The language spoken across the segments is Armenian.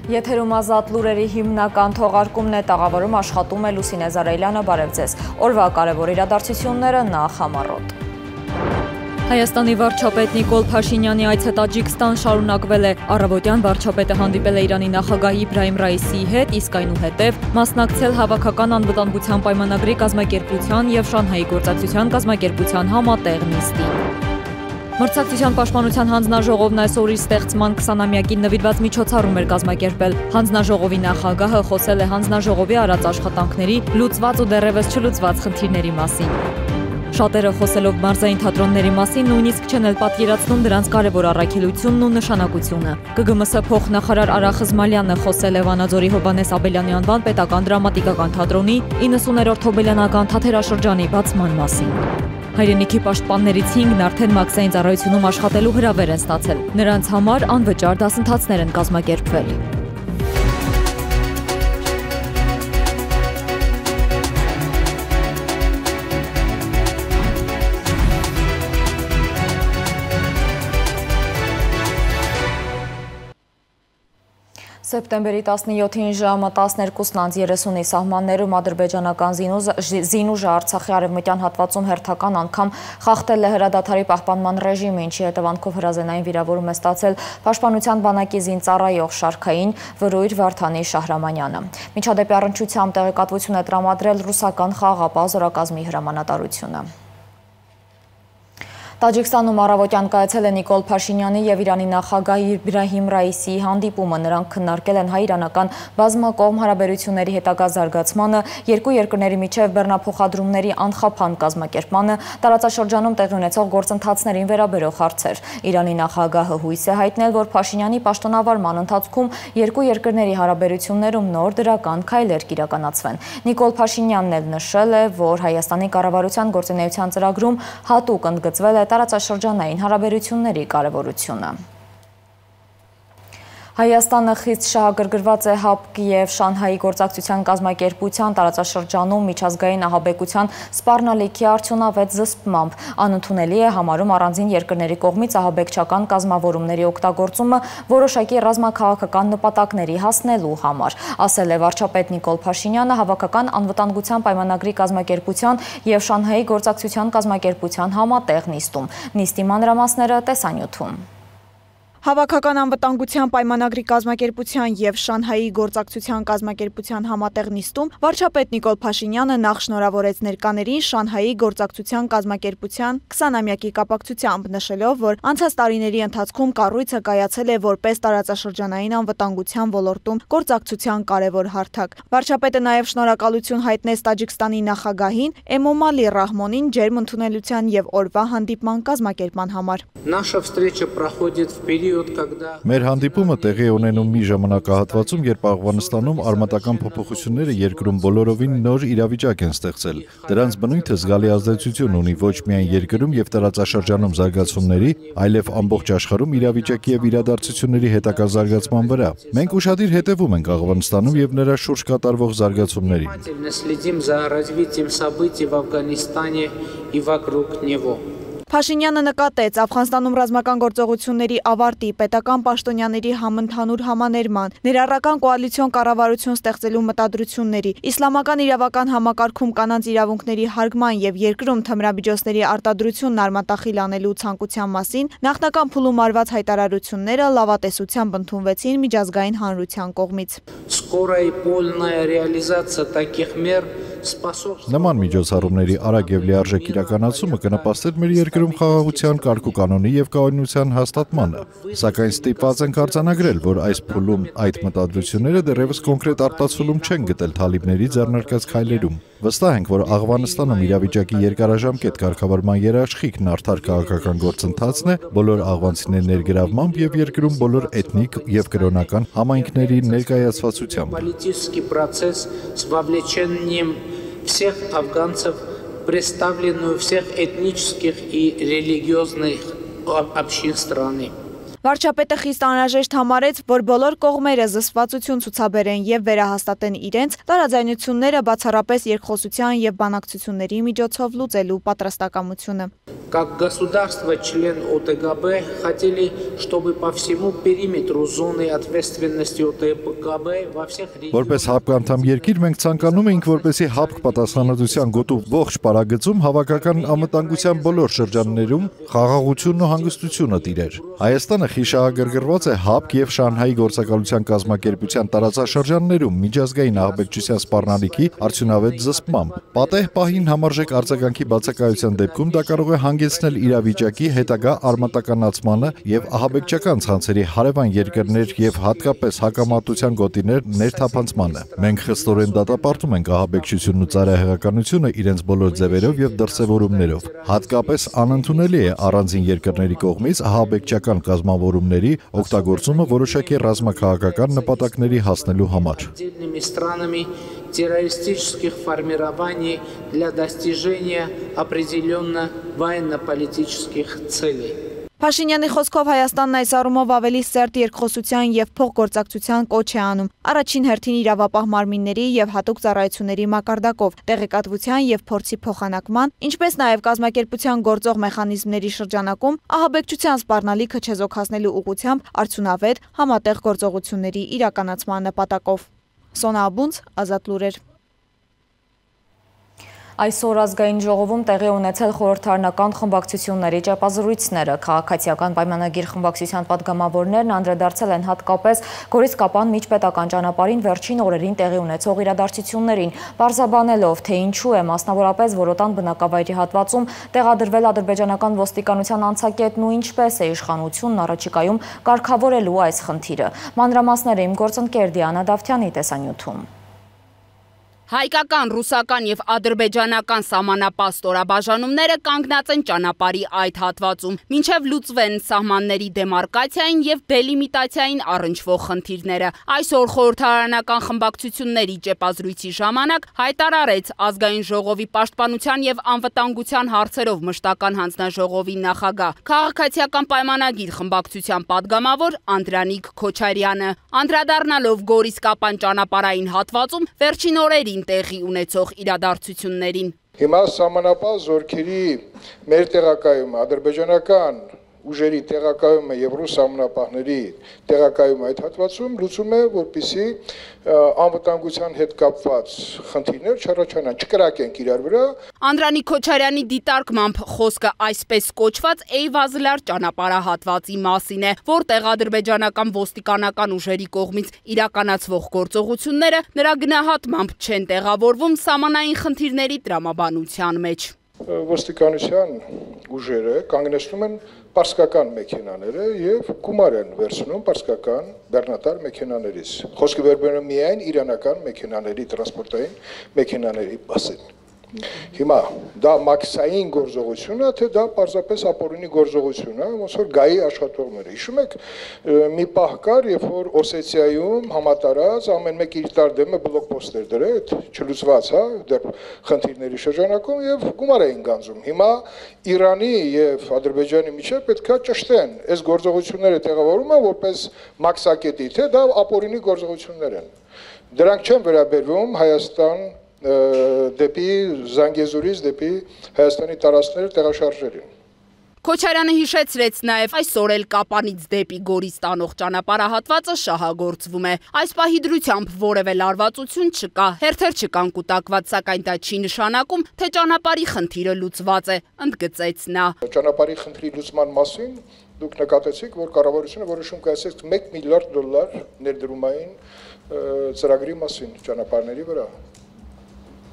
Եթերում ազատ լուրերի հիմնական թողարկումն է, տաղավարում աշխատում է Լուսինե Զարայլյանը, բարև ձեզ։ Օրվա կարևոր իրադարձությունները նախ համառոտ։ Հայաստանի վարչապետ Նիկոլ Փաշինյանի այցը Տաջիկստան շարունակվել է։ Առավոտյան վարչապետը հանդիպել է Իրանի նախագահ Իբրահիմ Ռայիսիի հետ, իսկ այնուհետև մասնակցել Հավաքական անվտանգության պայմանագրի կազմակերպության և Շանհայի գործակցության կազմակերպության համատեղ նիստին։ Մրցակցության պաշտպանության հանձնաժողովն այսօր իր ստեղծման 20-ամյակին նվիրված միջոցառում էր կազմակերպել։ Հանձնաժողովի նախագահը խոսել է հանձնաժողովի արած աշխատանքների, լուծված ու դեռևս չլուծված խնդիրների մասին։ Շատերը խոսելով մարզային թատրոնների մասին նույնիսկ չեն էլ պատկերացնում դրանց կարևոր առաքելությունն ու նշանակությունը։ ԿԳՄՍ փոխնախարար Արա Խզմալյանը խոսել է Վանաձորի Հովհաննես Աբելյանի անվան պետական դրամատիկական թատրոնի 90-րդ հոբելյանական թատերաշրջանի բացման մասին։ Հայրենիքի պաշտպաններից 5-ն արդեն մաքսային ծառայությունում աշխատելու հրավեր են ստացել։ Նրանց համար անվճար դասընթացներ են կազմակերպվել։ Սեպտեմբերի 17-ին ժամը 12:30-ի սահմաններում ադրբեջանական զինուժը Արցախի արևմտյան հատվածում հերթական անգամ խախտել է հրադադարի պահպանման ռեժիմը, ինչի հետևանքով հրազենային վիրավորում է ստացել Պաշտպանության բանակի զինծառայող շարքային վրույր Վարդանի Շահրամանյանը։ Միջադեպի առնչությամբ տեղեկատվություն է տրամադրել ռուսական խաղաղապահ զորակազմի հրամանատարությունը։ Տաջիկստանում առավոտյան կայացել է Նիկոլ Փաշինյանի և Իրանի նախագահ Իբրահիմ Ռայիսիի հանդիպումը։ Նրանք քննարկել են հայ-իրանական բազմակողմ հարաբերությունների հետագա զարգացմանը, երկու երկրների միջև բեռնափոխադրումների անխափան կազմակերպմանը, տարածաշրջանում տեղի ունեցող գործընթացներին վերաբերող հարցեր։ Իրանի նախագահը հույս է հայտնել, որ Փաշինյանի պաշտոնավարման ընթացքում երկու երկրների հարաբերություններում նոր դրական քայլեր կիրականացվեն։ Նիկոլ Փաշինյանն էլ նշել է, որ Հայաստանի կառավարության գործունեության ծրագրում հատուկ ընդգծվել է տարածաշրջանային հարաբերությունների կարևորությունը։ Հայաստանը խիստ շահագրգռված է ՀԱՊԿ և Շանհայի գործակցության կազմակերպության տարածաշրջանում միջազգային ահաբեկության սպառնալիքի արդյունավետ զսպմամբ։ Անընդունելի է համարում առանձին երկրների կողմից ահաբեկչական կազմավորումների օգտագործումը որոշակի ռազմաքաղաքական նպատակների հասնելու համար, ասել է վարչապետ Նիկոլ Փաշինյանը Հավաքական անվտանգության պայմանագրի կազմակերպության և Շանհայի գործակցության կազմակերպության համատեղ նիստում։ Նիստի մանրամասները տեսանյութում։ Հավաքական անվտանգության պայմանագրի կազմակերպության և Շանհայի գործակցության կազմակերպության համատեղ նիստում վարչապետ Նիկոլ Փաշինյանը նախ շնորհավորեց ներկաներին Շանհայի գործակցության կազմակերպության 20-ամյակի կապակցությամբ, նշելով, որ անցած տարիների ընթացքում կառույցը կայացել է որպես տարածաշրջանային անվտանգության ոլորտում գործակցության կարևոր հարթակ։ Վարչապետը նաև շնորհակալություն հայտնեց Տաջիկստանի նախագահին Էմոմալի Ռահմոնին ջերմ ընդունելության և օրվա հանդիպման կազմակերպման համար։ Մեր հանդիպումը տեղի է ունենում մի ժամանակահատվածում, երբ Աֆղանստանում արմատական փոփոխությունները երկրում բոլորովին նոր իրավիճակ են ստեղծել։ Դրանց բնույթը զգալի ազդեցություն ունի ոչ միայն երկրում և տարածաշրջանում զարգացումների, այլև ամբողջ աշխարհում իրավիճակի և իրադարձությունների հետագա զարգացման վրա։ Մենք ուշադիր հետևում ենք Աֆղանստանում և նրա շուրջ կատարվող զարգացումներին։ Փաշինյանը նկատեց Աֆղանստանում ռազմական գործողությունների ավարտի, պետական պաշտոնյաների համընդհանուր համաներման, ներառական կոալիցիոն կառավարություն ստեղծելու մտադրությունների, իսլամական իրավական համակարգում կանանց իրավունքների հարգման և երկրում թմրամիջոցների արտադրությունն արմատախիլ անելու ցանկության մասին նախնական փուլում արված հայտարարությունները լավատեսությամբ ընդունվեցին միջազգային հանրության կողմից։ Նման միջոցառումների արագ և լիարժեք իրականացումը կնպաստեր մեր երկրում խաղաղության, կարգուկանոնի և կայունության հաստատմանը, սակայն ստիպված ենք արձանագրել, որ այս փուլում այդ մտադրությունները դեռևս կոնկրետ արտացոլում չեն գտել թալիբների ձեռնարկած քայլերում։ Վստահ ենք, որ Աֆղանստանում իրավիճակի երկարաժամկետ կարգավորման երաշխիքն արդար քաղաքական գործընթացն է բոլոր աղվանցիների ներգրավմամբ և երկրում բոլոր էթնիկ և կրոնական համայնքների ներկայացվածությամբ։ Всех афганцев, представленную всех этнических и религиозных общин страны. Վարչապետը խիստ անհրաժեշտ համարեց, որ բոլոր կողմերը զսպվածություն ցուցաբերեն եւ վերահաստատեն իրենց տարաձայնությունները բացառապես երկխոսության եւ բանակցությունների միջոցով լուծելու պատրաստակամությունը։ Как государство, член ОТГБ, хотели, чтобы по всему периметру зоны ответственности ОТГБ во всех регионах... Որպես ՀԱՊԿ անդամ երկիր մենք ցանկանում էինք, որպեսզի ՀԱՊԿ պատասխանատվության գոտու ողջ պարագծում հավաքական անվտանգության բոլոր շրջաններում խաղաղությունն ու հանգստությունը տիրեր։ Հայաստանը խիշահագրգռված է ՀԱՊԿ եւ Շանհայի գործակալության կազմակերպության տարածաշրջաններում միջազգային ահաբեկչության սպառնալիքի արդյունավետ զսպմամբ։ Պատեհ պահին համարժեք արձագանքի բացակայության դեպքում դա կարող է հանգեցնել իրավիճակի հետագա արմատականացմանը եւ ահաբեկչական ցանցերի հարևան երկրներ եւ հատկապես հակամարտության գոտիներ ներթափանցմանը։ Մենք խստորեն դատապարտում ենք ահաբեկչությունն ու ծայրահեղականությունը իրենց բոլոր ձևերով եւ դրսեւորումներով։ Հատկապես անընդունելի է առանձին երկրների կողմից ահաբեկչական կազմավորումների օգտագործումը որոշակի ռազմաքաղաքական նպատակների հասնելու համար։ террористических формирований для достижения определенно военно-политических целей. Փաշինյանի խոսքով Հայաստանն այս առումով ավելի սերտ երկխոսության եւ փոխգործակցության կոչ է անում։ Առաջին հերթին իրավապահ մարմինների եւ հատուկ ծառայությունների մակարդակով, տեղեկատվության եւ փորձի փոխանակման, ինչպես նաեւ կազմակերպության գործող մեխանիզմների շրջանակում ահաբեկչության սպառնալիքը չեզոքացնելու ուղղությամբ արդյունավետ համատեղ գործողությունների իրականացման նպատակով։ Սոնա Աբունց, Ազատ լուրեր։ Այսօր ազգային ժողովում տեղի ունեցել խորհրդարանական խմբակցությունների ճեպազրույցները։ Քաղաքացիական պայմանագիր խմբակցության պատգամավորներն անդրադարձել են հատկապես Գորիս-Կապան միջպետական ճանապարհին վերջին օրերին տեղի ունեցող իրադարձություններին, պարզաբանելով, թե ինչու է մասնավորապես Որոտան բնակավայրի հատվածում տեղադրվել ադրբեջանական ոստիկանության անցակետն ու ինչպես է իշխանությունն առաջիկայում կարգավորելու այս խնդիրը։ Մանրամասները իմ գործընկեր Դիանա Դավթյանի տեսանյութում։ Հայկական, ռուսական եւ ադրբեջանական սահմանապահ ստորաբաժանումները կանգնած են ճանապարհի այդ հատվածում, մինչև լուծվեն սահմանների դեմարկացիային եւ դելիմիտացիային առնչվող խնդիրները։ Այսօր խորհրդարանական խմբակցությունների ճեպազրույցի ժամանակ հայտարարեց ազգային ժողովի պաշտպանության եւ անվտանգության հարցերով մշտական հանձնաժողովի նախագահ, քաղաքացիական պայմանագիր խմբակցության падգամավոր Անդրանիկ Քոչարյանը, անդրադառնալով Գորիս-Կապան ճանապարհային հատվածում վերջին օրերին տեղի ունեցող իրադարձություններին։ Հիմա սահմանապահ զորքերի մեր տեղակայումը, ադրբեջանական ուժերի տեղակայումը եւ ռուս սահմանապահների տեղակայումը այդ հատվածում լուծում է, որպեսզի անվտանգության հետ կապված խնդիրներ չառաջանան, չկրակենք իրար վրա։ Անդրանիկ Քոչարյանի դիտարկմամբ խոսքը այսպես կոչված Էյվազլար ճանապարհահատվածի մասին է, որտեղ ադրբեջանական ոստիկանական ուժերի կողմից իրականացվող գործողությունները նրա գնահատմամբ չեն տեղավորվում սահմանային խնդիրների տրամաբանության մեջ։ Ոստիկանության ուժերը կանգնեցնում են պարսկական մեքենաները եւ գումար են վերցնում պարսկական բեռնատար մեքենաներից։ Խոսքը վերաբերում է միայն իրանական մեքենաների, տրանսպորտային մեքենաների մասին։ Հիմա դա մաքսային գործողություն է, թե դա պարզապես ապօրինի գործողություն է, ոնց որ գայի աշխատողները։ Հիշում եք, մի պահ կար, երբ որ Օսեթիայում համատարած ամեն մեկ իր տար դեմը բլոկպոստեր դրեց, չլուծված, հա, դեռ խնդիրների շրջանակում եւ գումար էին գանձում։ Հիմա Իրանի եւ Ադրբեջանի միջեւ պետքա ճշտեն, այս գործողությունները տեղավորում են որպես մաքսակետի, թե դա ապօրինի գործողություններ են։ Դրանք չեն վերաբերվում Հայաստան դեպի Զանգեզուրից դեպի Հայաստանի տարածքները տեղաշարժերին։ Քոչարյանը հիշեցրեց նաև այսօր էլ Կապանից դեպի Գորիս տանող ճանապարհահատվածը շահագործվում է։ Այս պահի դրությամբ որևէ լարվածություն չկա, հերթեր չկան կուտակված, սակայն դա չի նշանակում, թե ճանապարհի խնդիրը լուծված է, ընդգծեց նա։ Ճանապարհի խնդրի լուծման մասին դուք նկատեցիք, որ կառավարությունը որոշում կայացրեց $1 միլիարդ ներդրումային ծրագրի մասին ճանապարհների վրա։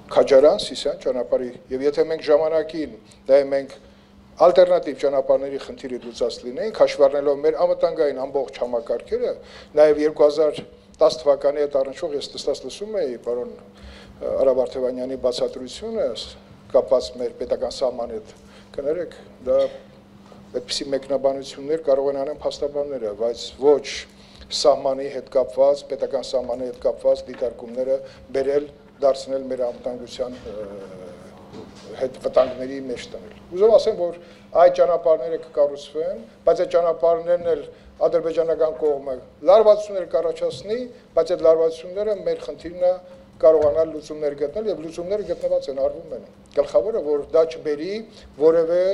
Քաջարան, Սիսիան ճանապարհի, եւ եթե մենք ժամանակին նայենք մենք ալտերնատիվ ճանապարհների խնդիրը լուծած լինեինք, հաշվառնելով մեր անվտանգային ամբողջ համակարգերը, նաեւ 2010 թվականի հետ առնչվող ես տստած լսում էի պարոն Արա Վարդևանյանի բացատրությունը կապված մեր պետական սահմանի հետ, կներեք, դա այդպիսի մեկնաբանություններ կարող են անեն փաստաբանները, բայց ոչ սահմանի հետ կապված, պետական սահմանի հետ կապված դիտարկումները բերել դարձնել մեր անվտանգության հետ այդ վտանգների մեջ տնել։ Ուզում ասեմ, որ այդ ճանապարհները կկառուցվեն, բայց այդ ճանապարհներն էլ ադրբեջանական կողմը լարվածություններ կառաջացնի, բայց այդ լարվածությունները մեր խնդիրն է կարողանալ լուծումներ գտնել եւ լուծումները գտնված են, արվում են։ Գլխավորը, որ դա չբերի որևէ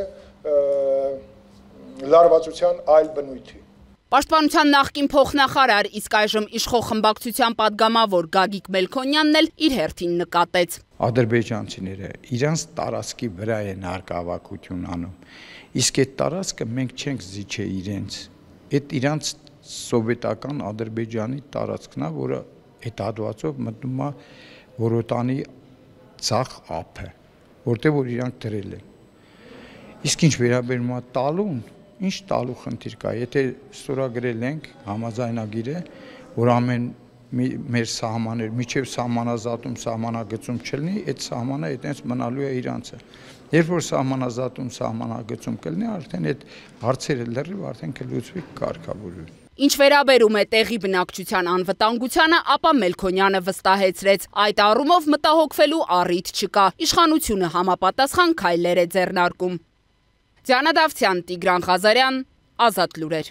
լարվածության այլ բնույթի։ Պաշտպանության նախկին փոխնախարար, իսկ այժմ իշխող խմբակցության падգամավոր Գագիկ Մելքոնյանն էլ իր հերթին նկատեց. Ադրբեջանցիները իրանց տարածքի վրա են հարկավակություն անում, իսկ այդ տարածքը մենք չենք զիջե իրենց, այդ իրանց սովետական Ադրբեջանի տարածքն է, որը այդ հատվածով մտնում է Որոտանի ցախ ափը, որտեղ որ իրանք դրել են։ Իսկ ինչ վերաբերում է տալուն, ինչ տալու խնդիր կա, եթե ստորագրել ենք համաձայնագիրը, որ ամեն մեր սահմաններ, միջև սահմանազատում, սահմանագծում չլինի, այդ սահմանը այդպես մնալու է իրանցը։ Երբ որ սահմանազատում, սահմանագծում կլինի, արդեն այդ հարցերը լրիվ արդեն կլուծվի, կարգավորվի։ Ինչ վերաբերում է տեղի բնակչության անվտանգությանը, ապա Մելքոնյանը վստահեցրեց, այդ առումով մտահոգվելու առիթ չկա, իշխանությունը համապատասխան քայլեր է ձեռնարկում։ Դիանա Դավթյան, Տիգրան Ղազարյան, Ազատ լուրեր։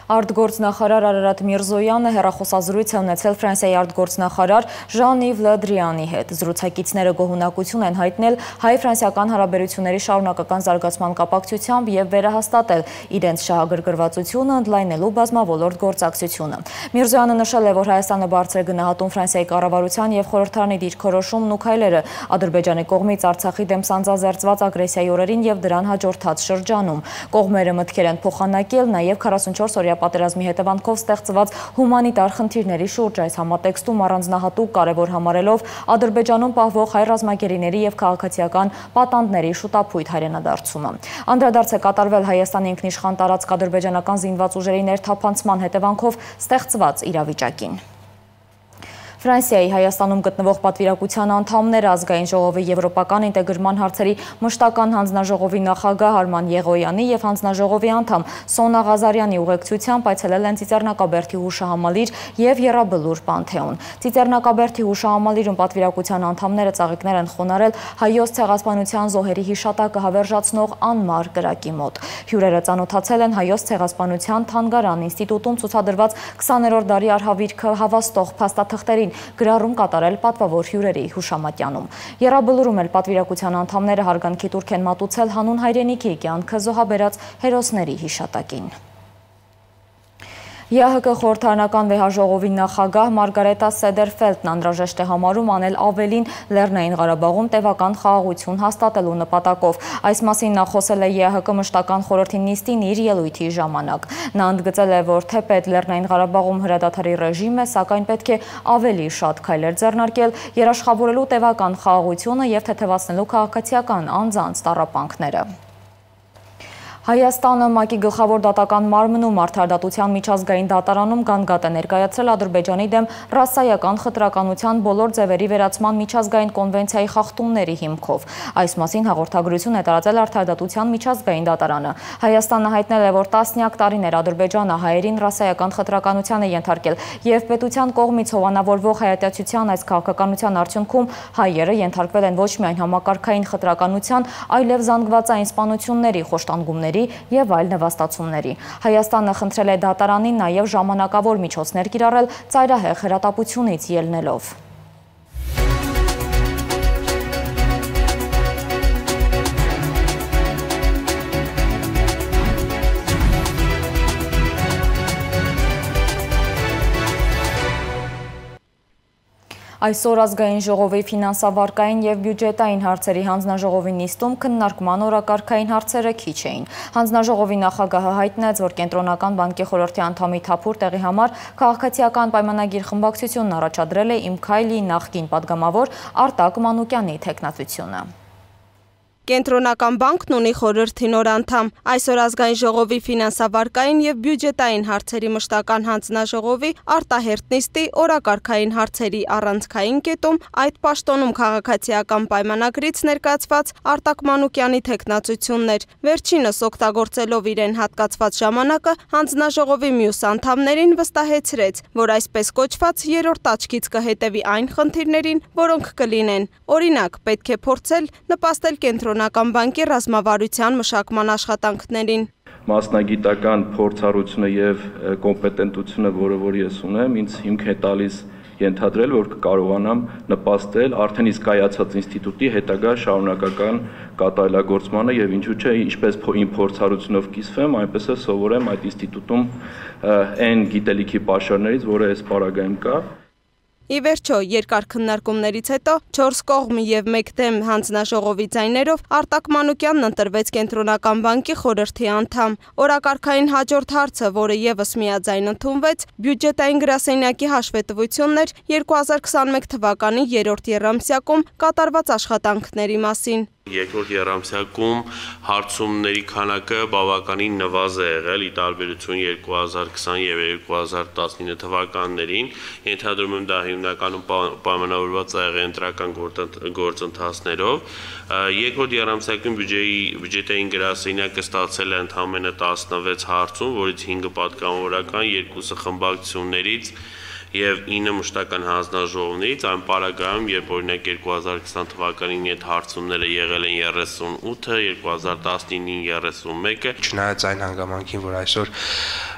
Արտգործնախարար Արարատ Միրզոյանը հեռախոսազրույց է ունեցել Ֆրանսիայի արտգործնախարար Ժան-Իվ Լը Դրիանի հետ։ Զրուցակիցները գոհունակություն են հայտնել հայ-ֆրանսիական հարաբերությունների շարունակական զարգացման կապակցությամբ եւ վերահաստատել իրենց շահագրգռվածությունը, ընդլայնելու բազմավոլորտ գործակցությունը։ Միրզոյանը նշել է, որ Հայաստանը բարձր է գնահատում Ֆրանսիայի կառավարության եւ խորհրդարանի դիրքորոշումն ու քայլերը Ադրբեջանի կողմից Արցախի դեմ սանձազերծված ագրեսիայի օրերին եւ դրան հաջորդած շրջանում։ Կողմերը մտքեր են փոխանակել նաեւ 44 օրյա պատերազմի հետևանքով ստեղծված հումանիտար խնդիրների շուրջ, այս համատեքստում առանձնահատուկ կարևոր համարելով Ադրբեջանում պահվող հայ ռազմագերիների եւ քաղաքացիական պատանդների շուտապույտ հայրենադարձումը։ Անդրադարձ է կատարվել Հայաստանի ինքնիշխան տարածք ադրբեջանական զինված ուժերի ներթափանցման հետևանքով ստեղծված իրավիճակին։ Ֆրանսիայի Հայաստանում գտնվող պատվիրակության անդամները Ազգային ժողովի եվրոպական ինտեգրման հարցերի մշտական հանձնաժողովի նախագահ Արման Եղոյանի եւ հանձնաժողովի անդամ Սոնա Ղազարյանի ուղեկցությամբ այցելել են Ծիծեռնակաբերդի հուշահամալիր եւ Եռաբլուր Պանթեոն։ Ծիծեռնակաբերդի հուշահամալիրում պատվիրակության անդամները ծաղիկներ են խոնարել հայոց ցեղասպանության զոհերի հիշատակը հավերժացնող անմար կրակի մոտ։ Հյուրերը ծանոթացել են հայոց ցեղասպանության թանգարան ինստիտուտում ցուցադրված 20-րդ դարի արհավիրքը հավաստող փաստաթղթերին գրառում կատարել պատվավոր հյուրերի հուշամատյանում։ Եռաբլուրում էլ պատվիրակության անդամները հարգանքի տուրք են մատուցել հանուն հայրենիքի կյանքը զոհաբերած հերոսների հիշատակին։ ԵԱՀԿ խորհրդարանական վեհաժողովի նախագահ Մարգարետա Սեդերֆելդն անհրաժեշտ է համարում անել ավելին Լեռնային Ղարաբաղում տևական խաղաղություն հաստատելու նպատակով։ Այս մասին նա խոսել է ԵԱՀԿ մշտական խորհրդի նիստին իր ելույթի ժամանակ։ Նա ընդգծել է, որ թեպետ Լեռնային Ղարաբաղում հրադադարի ռեժիմ է, սակայն պետք է ավելի շատ քայլեր ձեռնարկել երաշխավորելու տևական խաղաղությունը եւ թեթևացնելու քաղաքացիական անձանց տառապանքները։ Հայաստանը ՄԱԿ-ի գլխավոր դատական մարմնում արդարադատության միջազգային դատարանում գանգատ է ներկայացրել Ադրբեջանի դեմ ռասայական խտրականության բոլոր ձևերի վերացման միջազգային կոնվենցիայի խախտումների հիմքով։ Այս մասին հաղորդագրություն է տարածել արդարադատության միջազգային դատարանը։ Հայաստանը հայտնել է, որ տասնյակ տարիներ Ադրբեջանը հայերին ռասայական խտրականության է ենթարկել եւ պետության կողմից հովանավորվող հայատյացության այս քաղաքականության արդյունքում հայերը ենթարկվել են ոչ միայն համակարգային խտրականության, այլև զանգվածային սպանությունների, խոշտանգումների եւ այլ նվաստացումների։ Հայաստանը խնդրել է դատարանին նաեւ ժամանակավոր միջոցներ կիրառել ծայրահեղ հրատապությունից ելնելով։ Այսօր ազգային ժողովի ֆինանսավարկային եւ բյուջետային հարցերի հանձնաժողովի նիստում քննարկման օրակարգային հարցերը քիչ էին։ Հանձնաժողովի նախագահը հայտնեց, որ կենտրոնական բանկի խորհրդի անդամի թափուր տեղի համար քաղաքացիական պայմանագիր խմբակցությունն առաջադրել է Իմ քայլի նախկին падգամավոր Արտակ Մանուկյանի թեկնածությունը։ Կենտրոնական բանկն ունի խորհրդի նոր անդամ։ Այսօր ազգային ժողովի ֆինանսավարկային եւ բյուջետային հարցերի մշտական հանձնաժողովի արտահերթ նիստի օրակարգային հարցերի առանցքային կետում այդ պաշտոնում քաղաքացիական պայմանագրից ներկայացված Արտակ Մանուկյանի թեկնածություններ։ Վերջինս օգտագործելով իրեն հատկացված ժամանակը հանձնաժողովի մյուս անդամներին վստահեցրեց, որ այսպես կոչված երրորդ աչքից կհետևի այն խնդիրներին, որոնք կլինեն։ Օրինակ, պետք է փորձել նպաստել կենտրոնական բանկի ռազմավարության մշակման աշխատանքներին։ Մասնագիտական փորձառությունը եւ կոմպետենտությունը, որ ես ունեմ, ինձ հիմք է տալիս ենթադրել, որ կկարողանամ նպաստել արդեն իսկ կայացած ինստիտուտի հետագա շարունակական կատարելագործմանը եւ ինչու՞ չէ, ինչպես իմ փորձառությունով կիսվեմ, այնպես էլ սովորեմ այդ ինստիտուտում այն գիտելիքի պաշարներից, որը այս պարագայում կա։ Ի վերջո, երկար քննարկումներից հետո 4 կողմ եւ 1 դեմ հանձնաժողովի ձայներով Արտակ Մանուկյանն ընտրվեց Կենտրոնական բանկի խորհրդի անդամ։ Օրակարգային հաջորդ հարցը, որը եւս միաձայն ընդունվեց, բյուջետային գրասենյակի հաշվետվությունն էր 2021 թվականի 3-րդ եռամսյակում կատարված աշխատանքների մասին։ Երկրորդ եռամսյակում հարցումների քանակը բավականին նվազ է եղել ի տարբերություն 2020 եւ 2019 թվականներին։ Ենթադրում եմ դա հիմնականում պայմանավորված է եղել ընտրական գործընթացներով։ Երկրորդ եռամսյակում բյուջետային գրասենյակը ստացել է ընդամենը 16 հարցում, որից 5-ը պատգամավորական, 2-ը խմբակցություններից եւ 9 մշտական հանձնաժողովներից, այն պարագայում, երբ օրինակ 2020 թվականին այդ հարցումները եղել են 38-ը, 2019-ին 31-ը, չնայած այն հանգամանքին, որ այսօր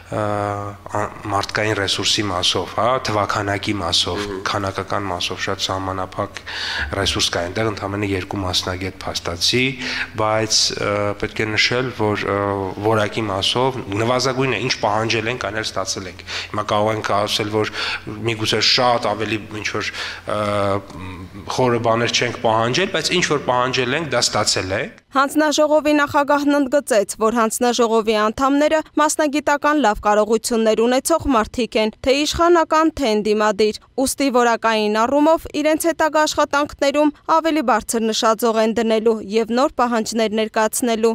մարդկային ռեսուրսի մասով, թվականակի մասով, քանակական մասով շատ սահմանափակ ռեսուրս կա այնտեղ, ընդամենը 2 մասնագետ փաստացի, բայց պետք է նշել, որ որակի մասով նվազագույնը ինչ պահանջել ենք, այն էլ ստացել ենք։ Հիմա կարող ենք ասել, որ միգուցե շատ ավելի ինչ որ խորը բաներ չենք պահանջել, բայց ինչ որ պահանջել ենք, դա ստացել ենք։ Հանձնաժողովի նախագահն ընդգծեց, որ հանձնաժողովի անդամները մասնագիտական լավ կարողություններ ունեցող մարդիկ են, թե իշխանական, թե ընդդիմադիր, ուստի որակային առումով իրենց հետագա աշխատանքներում ավելի բարձր նշաձող են դնելու եւ նոր պահանջներ ներկայացնելու։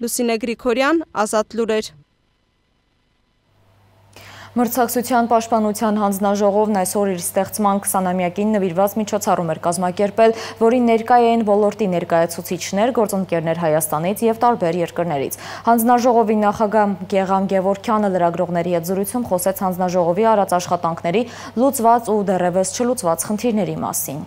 Լուսինե Գրիգորյան, Ազատ լուրեր։ Մրցակցության պաշտպանության հանձնաժողովն այսօր իր ստեղծման 20-ամյակին նվիրված միջոցառում էր կազմակերպել, որին ներկա էին ոլորտի ներկայացուցիչներ, գործընկերներ Հայաստանից եւ տարբեր երկրներից։ Հանձնաժողովի նախագահ Գեգամ Գևորգյանը լրագրողների հետ զրույցում խոսեց հանձնաժողովի արած աշխատանքների լուծված ու դեռևս չլուծված խնդիրների մասին։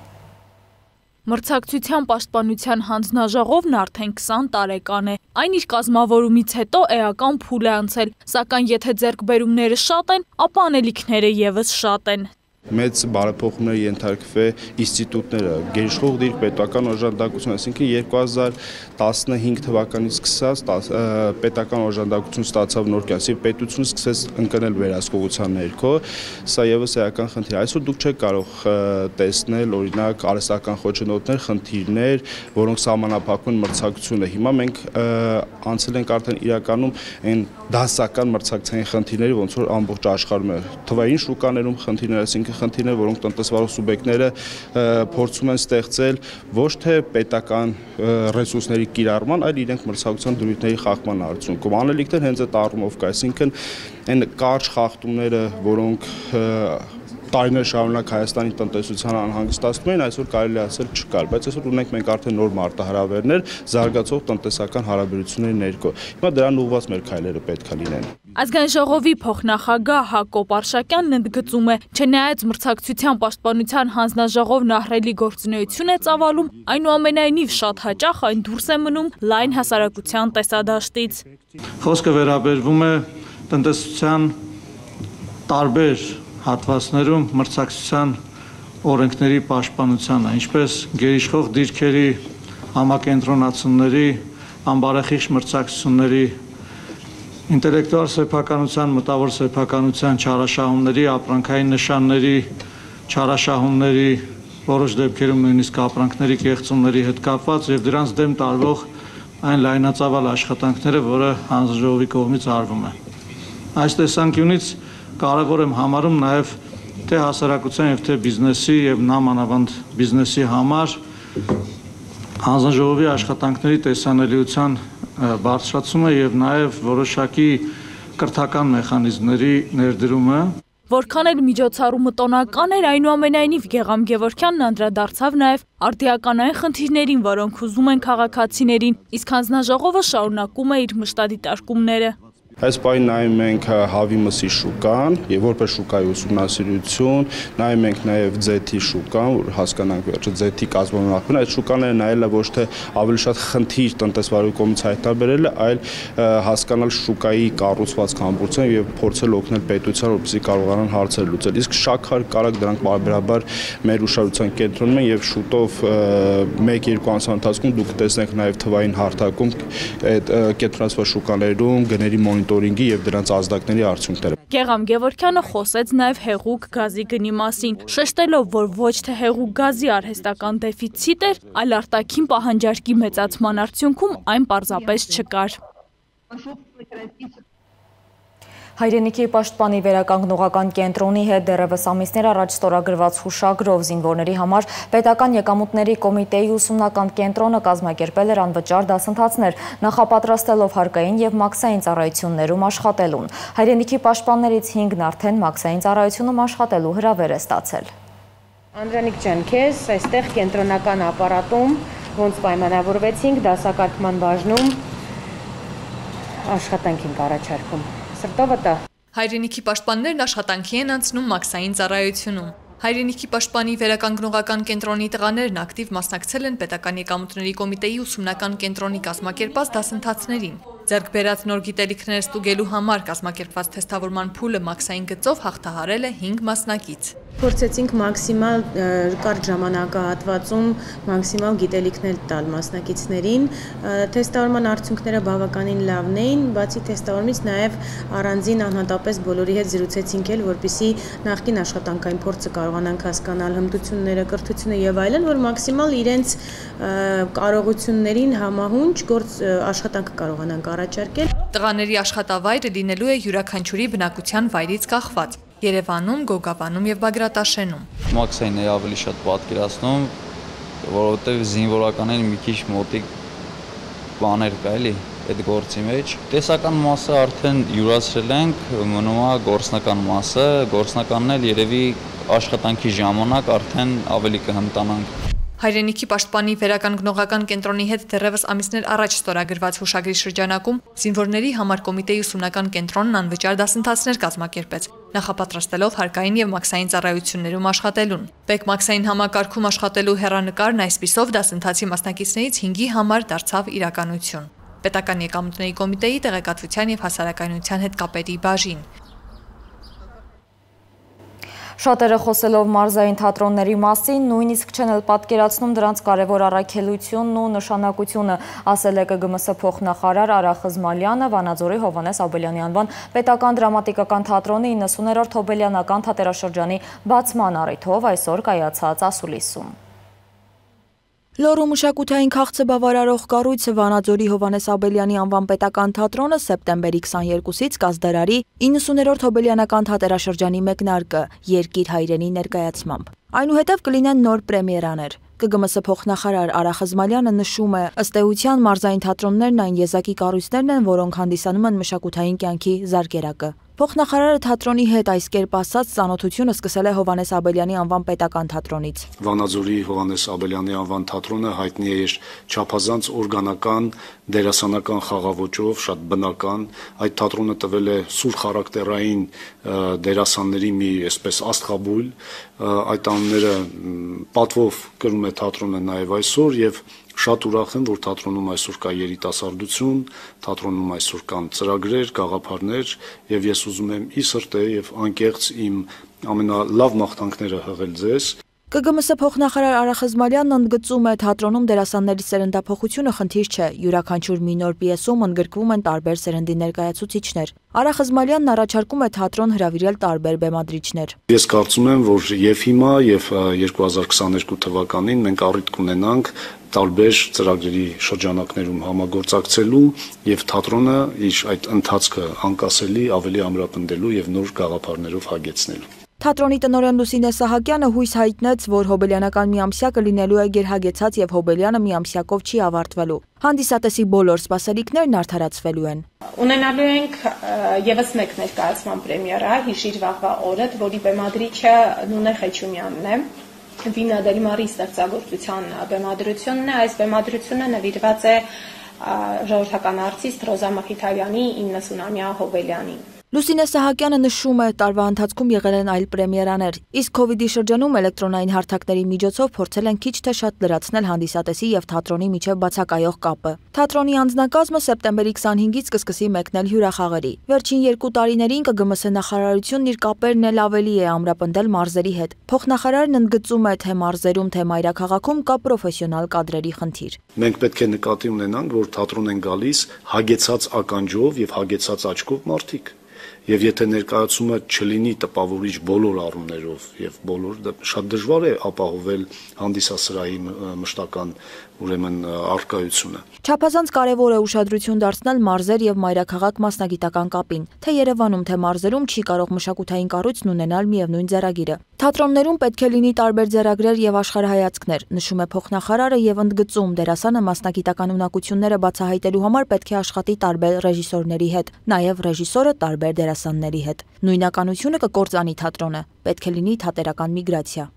Մրցակցության պաշտպանության հանձնաժողովն արդեն 20 տարեկան է։ Այն իր կազմավորումից հետո էական փուլ է անցել, սակայն եթե ձեռքբերումները շատ են, ապա անելիքները եւս շատ են։ Մեծ բարեփոխումների ենթարկվել ինստիտուտները, գերիշխող դիրք պետական օժանդակություն, այսինքն 2015 թվականից սկսած պետական օժանդակություն ստացավ նոր կյանքի, պետությունը սկսեց ընկնել վերահսկողության ներքո, սա եւս էական խնդիր։ Այսօր դուք չեք կարող տեսնել օրինակ արհեստական խոչընդոտներ, խնդիրներ, որոնք սահմանափակում են մրցակցությունը։ Հիմա մենք անցել ենք արդեն իրականում այն դասական մրցակցային խնդիրների, ոնց որ ամբողջ աշխարհում է, թվային շուկաներում խնդիրներ, այսինքն խնդիրներ, որոնք տնտեսվարող սուբյեկտները փորձում են ստեղծել ոչ թե պետական ռեսուրսների կիրառման, այլ իրենք մրցակցության դրույթների խախտման արդյունքում։ Անելիքներ հենց այդ առումով կա, այսինքն այն կարճ խախտումները, որոնք տարիներ շարունակ Հայաստանի տնտեսությանը անհանգստացնում են, այսօր կարելի ասել չկար, բայց այսօր ունենք մենք արդեն նոր մարտահրավերներ, զարգացող տնտեսական հարաբերությունների ներքո։ Հիմա դրան ուղղված մեր քայլերը պետք է լինեն։ Ազգային ժողովի փոխնախագահ Հակոբ Արշակյանն ընդգծում է, չնայած մրցակցության պաշտպանության հանձնաժողովն ահռելի գործունեություն է ծավալում, այնուամենայնիվ շատ հաճախ այն դուրս է մնում լայն հասարակության տեսադաշտից։ Խոսքը վերաբերվում է տնտեսության տարբեր հատվածներում մրցակցության օրենքների պաշտպանությանը, ինչպես գերիշխող դիրքերի համակենտրոնացումների, անբարեխիղճ մրցակցությունների, ինտելեկտուալ սեփականության, մտավոր սեփականության չարաշահումների, ապրանքային նշանների, չարաշահումների, որոշ դեպքերում նույնիսկ ապրանքների կեղծումների հետ կապված եւ դրանց դեմ տարվող այն լայնածավալ աշխատանքները, որը հանձնաժողովի կողմից արվում է։ Այս տեսանկյունից կարևոր եմ համարում նաև թե հասարակության եւ թե բիզնեսի եւ նամանավանդ բիզնեսի համար Հանձնաժողովի աշխատանքների տեսանելիության բարձրացումը եւ նաեւ որոշակի կրթական մեխանիզմների ներդրումը Որքան էլ միջոցառումը տոնական էր, այնուամենայնիվ Գեգամ Գևորգյանն անդրադարձավ նաև արտիականային խնդիրներին, որոնք հուզում են քաղաքացիներին, իսկ հանձնաժողովը շարունակում է իր մշտադիտարկումները։ Այս պահին նայում ենք հավի մսի շուկան եւ որպես շուկայի ուսումնասիրություն, նայում ենք նաեւ ձեթի շուկան, որ հասկանանք վերջը ձեթի կազմավորման այդ շուկաները նայելը ոչ թե ավելի շատ խնդիր տնտեսվարի կողմից հայտնաբերելը, այլ հասկանալ շուկայի կառուցվածք համբուրցան եւ փորձել օգնել պետության, որպեսզի կարողանան հարցեր լուծել։ Իսկ շաքար, կարագ դրանք բարբերաբար մեր ուշադրության կենտրոնում են եւ շուտով 1-2 ամսվա ընթացքում դուք տեսնեք նաեւ թվային հարթակում այդ կենտրոնացված շուկաներում գների մոնիտորինգի եւ դրանց ազդակների արդյունքները։ Գեգամ Գևորգյանը խոսեց նաև հեղուկ գազի գնի մասին, շեշտելով, որ ոչ թե հեղուկ գազի արհեստական դեֆիցիտ էր, այլ արտաքին պահանջարկի մեծացման արդյունքում այն պարզապես չկար։ Հայրենիքի պաշտպանի վերականգնողական կենտրոնի հետ դեռևս ամիսներ առաջ ստորագրված հուշագրով զինվորների համար պետական եկամուտների կոմիտեի ուսումնական կենտրոնը կազմակերպել էր անվճար դասընթացներ, նախապատրաստելով հարկային եւ մաքսային ծառայություններում աշխատելուն։ Հայրենիքի պաշտպաններից 5-ն արդեն մաքսային ծառայությունում աշխատելու հրավեր է ստացել։ Անդրանիկ ջան, քեզ այստեղ կենտրոնական ապարատում ոնց պայմանավորվեցինք դասակարգման բաժնում աշխատանք ենք առաջարկում։ Հայրենիքի պաշտպաններն աշխատանքի են անցնում մաքսային ծառայությունում։ Հայրենիքի պաշտպանի վերականգնողական կենտրոնի տղաներն ակտիվ մասնակցել են պետական եկամուտների կոմիտեի ուսումնական կենտրոնի կազմակերպած դասընթացներին։ Ձեռք բերած նոր գիտելիքներ ստուգելու համար կազմակերպված թեստավորման փուլը մաքսային գծով հաղթահարել է 5 մասնակից։ Փորձեցինք մաքսիմալ կարճ ժամանակահատվածում մաքսիմալ գիտելիքներ տալ մասնակիցներին։ Թեստավորման արդյունքները բավականին լավն էին, բացի թեստավորումից նաև առանձին անհատապես բոլորի հետ զրուցեցինք էլ, որպեսզի նախկին աշխատանքային փորձը կարողանանք հասկանալ, հմտությունները, կրթությունը եւ այլն, որ մաքսիմալ իրենց կարողություններին համահունչ աշխատանքը կարողանանք առաջարկել։ Տղաների աշխատավայրը լինելու է յուրաքանչյուրի բնակության վայրից կախված։ Երևանում, Գոգաբանում եւ Բագրատաշենում։ Մաքսային է ավելի շատ պատկերացնում, որովհետեւ զինվորականներին մի քիչ մոտիկ բաներ կա էլի այդ գործի մեջ։ Տեսական մասը արդեն յուրացրել ենք, մնում է գործնական մասը, գործնականն էլ երևի աշխատանքի ժամանակ արդեն ավելի կհմտանանք։ Հայրենիքի պաշտպանի վերականգնողական կենտրոնի հետ դեռևս ամիսներ առաջ ստորագրված հուշագրի շրջանակում զինվորների համար կոմիտեի ուսումնական կենտրոնն անվճար դասընթացներ կազմակերպեց, նախապատրաստելով հարկային եւ մաքսային ծառայություններում աշխատելուն։ Մաքսային համակարգում աշխատելու հեռանկարն այսպիսով դասընթացի մասնակիցներից 5-ի համար դարձավ իրականություն։ Պետական եկամուտների կոմիտեի տեղեկատվության եւ հասարակայնության հետ կապերի բաժին։ Շատերը խոսելով մարզային թատրոնների մասին, նույնիսկ չեն էլ պատկերացնում դրանց կարևոր առաքելությունն ու նշանակությունը, ասել է ԿԳՄՍ փոխնախարար Արա Խզմալյանը Վանաձորի Հովհաննես Աբելյանի անվան պետական դրամատիկական թատրոնի 90-րդ Հոբելյանական թատերաշրջանի բացման առիթով այսօր կայացած ասուլիսում։ Լոռու մշակութային քաղցը բավարարող կառույցը Վանաձորի Հովհաննես Աբելյանի անվան պետական թատրոնը սեպտեմբերի 22-ից կազդարարի 90-րդ Հոբելյանական թատերաշրջանի մեկնարկը երկիր հայրենի ներկայացմամբ։ Այնուհետև կլինեն նոր պրեմիերաներ։ ԿԳՄՍ փոխնախարար Արա Խզմալյանը նշում է, ըստ էության մարզային թատրոններն այն եզակի կառույցներն են, որոնք հանդիսանում են մշակութային կյանքի զարկերակը։ Փոխնախարարը թատրոնի հետ այս կերպ ասած ծանոթությունը սկսել է Հովհաննես Աբելյանի անվան պետական թատրոնից։ Վանաձորի Հովհաննես Աբելյանի անվան թատրոնը հայտնի է իր չափազանց օրգանական, դերասանական խաղաոճով, շատ բնական։ Այդ թատրոնը տվել է սուր խարակտերային դերասանների մի այսպես աստղաբույլ։ Այդ անունները պատվով կրում է թատրոնը նաև այսօր եւ շատ ուրախ եմ, որ թատրոնում այսօր կա երիտասարդություն, թատրոնում այսօր կան ծրագրեր, գաղափարներ եւ ես ուզում եմ ի սրտե եւ անկեղծ իմ ամենալավ մաղթանքները հղել ձեզ։ ԿԳՄՍ փոխնախարար Արա Խզմալյանն ընդգծում է, թատրոնում դերասանների սերնդափոխությունը խնդիր չէ, յուրաքանչյուր մի նոր պիեսում ընդգրկվում են տարբեր սերնդի ներկայացուցիչներ։ Արա Խզմալյանն առաջարկում է թատրոն հրավիրել տարբեր բեմադրիչներ։ Ես կարծում եմ, որ եւ հիմա եւ 2022 թվականին մենք առիթ կունենանք տարբեր ծրագրերի շրջանակներում համագործակցելու եւ թատրոնը իր այդ ընթացքը անկասելի ավելի ամրապնդելու եւ նոր գաղափարներով հագեցնելու։ Թատրոնի տնօրեն Լուսինե Սահակյանը հույս հայտնեց, որ հոբելյանական միամսյակը լինելու է գերհագեցած եւ հոբելյանը միամսյակով չի ավարտվելու։ Հանդիսատեսի բոլոր սպասելիքներն արդարացվելու են։ Ունենալու ենք եւս մեկ ներկայացման պրեմիերա «Հիշիր վաղվա օրդ», որի բեմադրիչը Նունե Խեչումյանն է։ Վինա Դելմարի ստեղծագործության բեմադրությունն է, այս բեմադրությունը նվիրված է ժողովրդական արտիստ Ռոզա Մխիթարյանի 90-ամյա հոբելյանին։ Լուսինե Սահակյանը նշում է, տարվա ընթացքում եղել են այլ պրեմիերաներ, իսկ COVID-ի շրջանում էլեկտրոնային հարթակների միջոցով փորձել են քիչ թե շատ լրացնել հանդիսատեսի եւ թատրոնի միջև բացակայող կապը։ Թատրոնի անձնակազմը սեպտեմբերի 25-ից կսկսի մեկնել հյուրախաղերի։ Վերջին 2 տարիներին ԿԳՄՍ նախարարությունն իր կապերն էլ ավելի է ամրապնդել մարզերի հետ։ Փոխնախարարն ընդգծում է, թե մարզերում, թե մայրաքաղաքում կա պրոֆեսիոնալ կադրերի խնդիր։ Մենք պետք է նկատի ունենանք, որ թատրոն են գալիս հագեցած ականջով եւ հագեցած աչքով մարդիկ։ Եվ եթե ներկայացումը չլինի տպավորիչ բոլոր առումներով եւ շատ դժվար է ապահովել հանդիսասրահի մշտական ուրեմն արկայությունը։ Չափազանց կարևոր է ուշադրություն դարձնել մարզեր եւ մայրաքաղաք մասնագիտական կապին, թե Երևանում, թե մարզերում չի կարող մշակութային կառույցն ունենալ միևնույն ձեռագիրը։ Թատրոններում պետք է լինի տարբեր ձեռագրեր եւ աշխարհայացքներ, նշում է փոխնախարարը եւ ընդգծում, դերասանը մասնագիտական ունակությունները բացահայտելու համար պետք է աշխատի տարբեր ռեժիսորների հետ, նաեւ ռեժիսորը տարբեր դերասանների հետ։ Նույնականությունը կկործանի թատրոնը, պետք է լինի թատերական միգրացիա։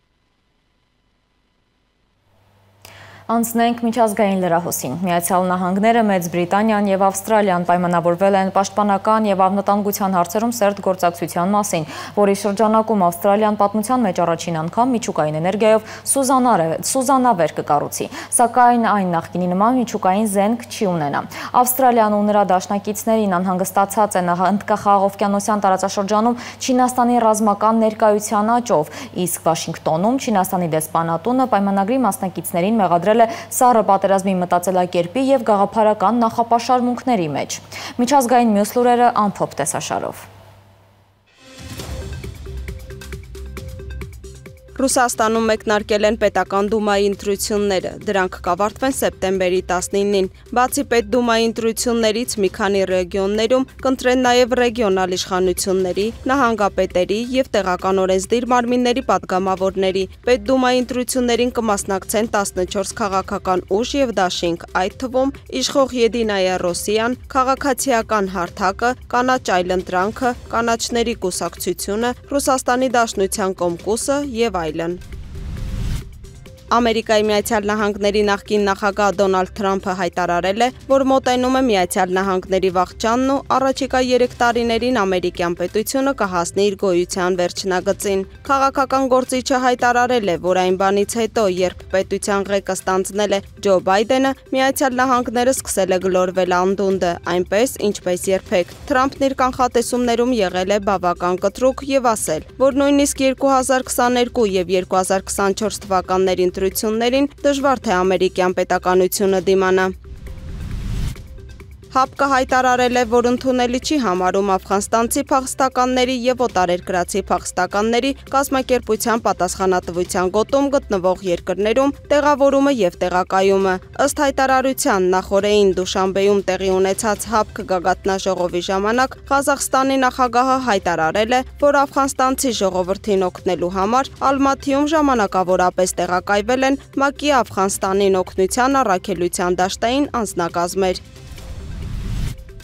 Անցնենք միջազգային լրահոսին։ Միացյալ Նահանգները, Մեծ Բրիտանիան եւ Ավստրալիան պայմանավորվել են պաշտպանական եւ անվտանգության հարցերում սերտ գործակցության մասին, որի շրջանակում Ավստրալիան պատմության մեջ առաջին անգամ միջուկային էներգիայով սուզանավեր կկառուցի, սակայն այն նախկինի նման միջուկային զենք չի ունենա։ Ավստրալիան ու նրա դաշնակիցներին անհանգստացած են Հնդկախաղովկիանոսյան տարածաշրջանում Չինաստանի ռազմական ներկայության աճով, իսկ Վաշինգտոնում Չինաստանի դեսպանատունը պայմանագրի մասնակիցներին մեղադրել սառը պատերազմի մտածելակերպի եւ գաղափարական նախապաշարմունքների մեջ։ Միջազգային մյուս լուրերը ամփոփ տեսաշարով։ Ռուսաստանում մեկնարկել են պետական դումայի ընտրությունները, դրանք կավարտվեն սեպտեմբերի 19-ին։ Բացի պետդումայի ընտրություններից մի քանի ռեգիոններում կընտրեն նաև ռեգիոնալ իշխանությունների, նահանգապետերի եւ տեղական օրենսդիր մարմինների падգամավորների։ Պետդումայի ընտրություններին կմասնակցեն 14 քաղաքական ուժ եւ դաշինք, այդ թվում իշխող Եդինայա Ռոսիան, քաղաքացիական հարթակը, կանաչ այլընտրանքը, կանաչների կուսակցությունը, Ռուսաստանի Դաշնության կոմկուսը եւ այլն։ Ամերիկայի Միացյալ Նահանգների նախկին նախագահ Դոնալդ Թրամփը հայտարարել է, որ մոտենում է Միացյալ Նահանգների վախճանն ու առաջիկա 3 տարիներին ամերիկյան պետությունը կհասնի իր գոյության վերջնագծին։ Քաղաքական գործիչը հայտարարել է, որ այն բանից հետո, երբ պետության ղեկը ստանձնել է Ջո Բայդենը, Միացյալ Նահանգները սկսել է գլորվել անդունդը, այնպես ինչպես երբեք։ Թրամփն իր կանխատեսումներում եղել է բավական կտրուկ եւ ասել, որ նույնիսկ 2022 եւ 2024 թվականներին դժվար թե ամերիկյան պետականությունը դիմանա։ ՀԱՊԿ-ը հայտարարել է, որ ընդունելի չի համարում աֆղանստանցի փախստականների եւ օտարերկրացի փախստականների կազմակերպության պատասխանատվության գոտում գտնվող երկրներում տեղավորումը եւ տեղակայումը։ Ըստ հայտարարության նախորդին Դուշանբեում տեղի ունեցած ՀԱՊԿ գագաթնաժողովի ժամանակ Ղազախստանի նախագահը հայտարարել է, որ աֆղանստանցի ժողովրդին օգնելու համար Ալմաթիում ժամանակավորապես տեղակայվել են ՄԱԿ-ի Աֆղանստանին օգնության առաքելության դաշտային անձնակազմեր։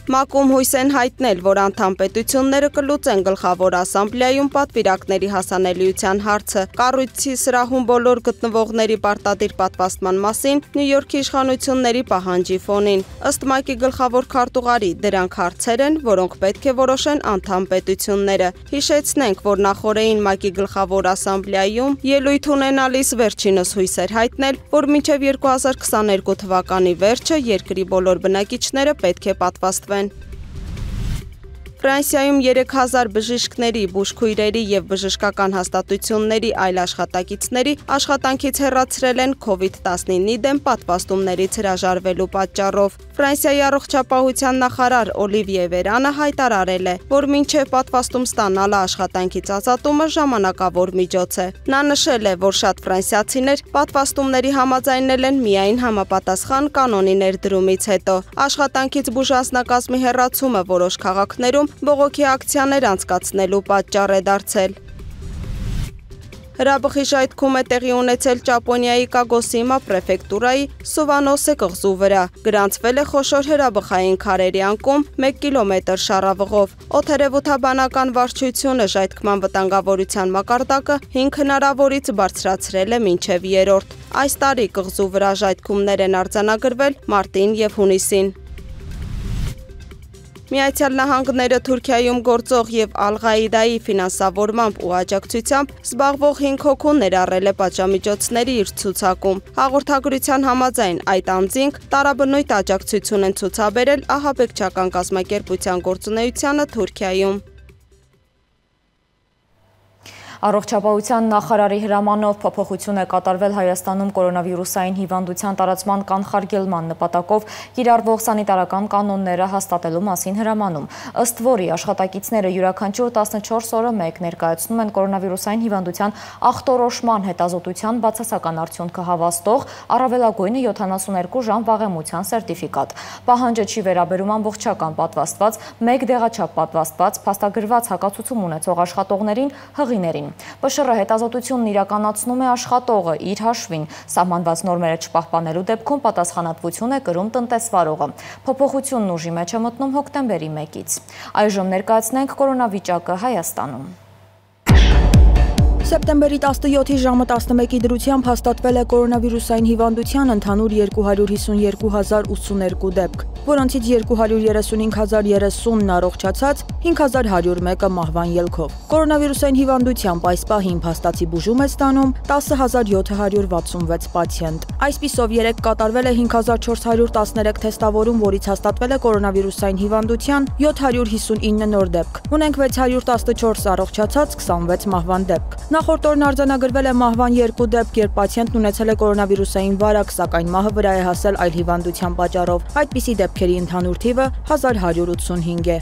ՄԱԿ-ում հույս են հայտնել, որ անդամ պետությունները կլուծեն գլխավոր ասամբլեայում պատվիրակների հասանելիության հարցը։ Կառույցի սրահում բոլոր գտնվողների պարտադիր պատվաստման մասին Նյու Յորքի իշխանությունների պահանջի ֆոնին։ Ըստ ՄԱԿ-ի գլխավոր քարտուղարի, դրանք հարցեր են, որոնք պետք է որոշեն անդամ պետությունները։ Հիշեցնենք, որ նախորդին ՄԱԿ-ի գլխավոր ասամբլեայում ելույթ ունենալիս վերջինս հույս էր հայտնել, որ մինչև 2022 թվականի վերջը երկրի բոլոր բնակիչները պետք է պատվաստվեն։ Ֆրանսիայում 3000 բժիշկների, բուժքույրերի եւ բժշկական հաստատությունների այլ աշխատակիցների աշխատանքից հեռացրել են COVID-19-ի դեմ պատվաստումներից հրաժարվելու պատճառով։ Ֆրանսիայի առողջապահության նախարար Օլիվիե Վերանը հայտարարել է, որ մինչև պատվաստում ստանալը աշխատանքից ազատումը ժամանակավոր միջոց է։ Նա նշել է, որ շատ ֆրանսիացիներ պատվաստումների համաձայնել են միայն համապատասխան կանոնի ներդրումից հետո։ Աշխատանքից բուժանձնակազմի հեռացումը որոշ քաղաքներում բողոքի ակցիաներ անցկացնելու պատճառ է դարձել։ Հրաբխի ժայթքում է տեղի ունեցել Ճապոնիայի Կագոսիմա պրեֆեկտուրայի Սուվանոսե կղզու վրա։ Գրանցվել է խոշոր հրաբխային քարերի անկում 1 կիլոմետր շառավղով։ Օդերևութաբանական վարչությունը ժայթքման վտանգավորության մակարդակը 5 հնարավորից բարձրացրել է մինչև 3-րդ։ Այս տարի կղզու վրա ժայթքումներ են արձանագրվել մարտին եւ հունիսին։ Միացյալ Նահանգները Թուրքիայում գործող եւ Ալ-Ղաիդայի ֆինանսավորմամբ ու աջակցությամբ զբաղվող 5 հոգու ներառել է պատժամիջոցների իր ցուցակում։ Հաղորդագրության համաձայն այդ անձինք տարաբնույթ աջակցություն են ցուցաբերել ահաբեկչական կազմակերպության գործունեությանը Թուրքիայում։ Առողջապահության նախարարի հրամանով փոփոխություն է կատարվել Հայաստանում կորոնավիրուսային հիվանդության տարածման կանխարգելման նպատակով կիրառվող սանիտարական կանոնները հաստատելու մասին հրամանում, ըստ որի աշխատակիցները յուրաքանչյուր 14 օրը մեկ ներկայացնում են կորոնավիրուսային հիվանդության ախտորոշման հետազոտության բացասական արդյունքը հավաստող առավելագույնը 72 ժամ վաղեմության սերտիֆիկատ։ Պահանջը չի վերաբերում ամբողջական պատվաստված, մեկ դեղաչափ պատվաստված, փաստագրված հակացուցում ունեցող աշխատողներին, հղիներին։ ՊՇՌ հետազոտությունն իրականացնում է աշխատողը իր հաշվին, սահմանված նորմերը չպահպանելու դեպքում պատասխանատվություն է կրում տնտեսվարողը։ Փոփոխությունն ուժի մեջ է մտնում հոկտեմբերի 1-ից։ Այժմ ներկայացնենք կորոնավիճակը Հայաստանում։ Սեպտեմբերի 17-ի ժամը 11-ի դրությամբ հաստատվել է կորոնավիրուսային հիվանդության ընդհանուր 252,082 դեպք, որոնցից 235,030-ն առողջացած, 5,101-ը մահվան ելքով։ Կորոնավիրուսային հիվանդությամբ այս պահին փաստացի բուժում է ստանում 10,766 պացիենտ։ Այսպիսով 3 կատարվել է 5,413 թեստավորում, որից հաստատվել է կորոնավիրուսային հիվանդության 759 նոր դեպք։ Ունենք 614 առողջացած, 26 մահվան դեպք։ Նախորդ օրն արձանագրվել է մահվան 2 դեպք, երբ պացիենտն ունեցել է կորոնավիրուսային վարակ, սակայն մահը վրա է հասել այլ հիվանդության պատճառով։ Այդպիսի դեպքերի ընդհանուր թիվը 1185 է։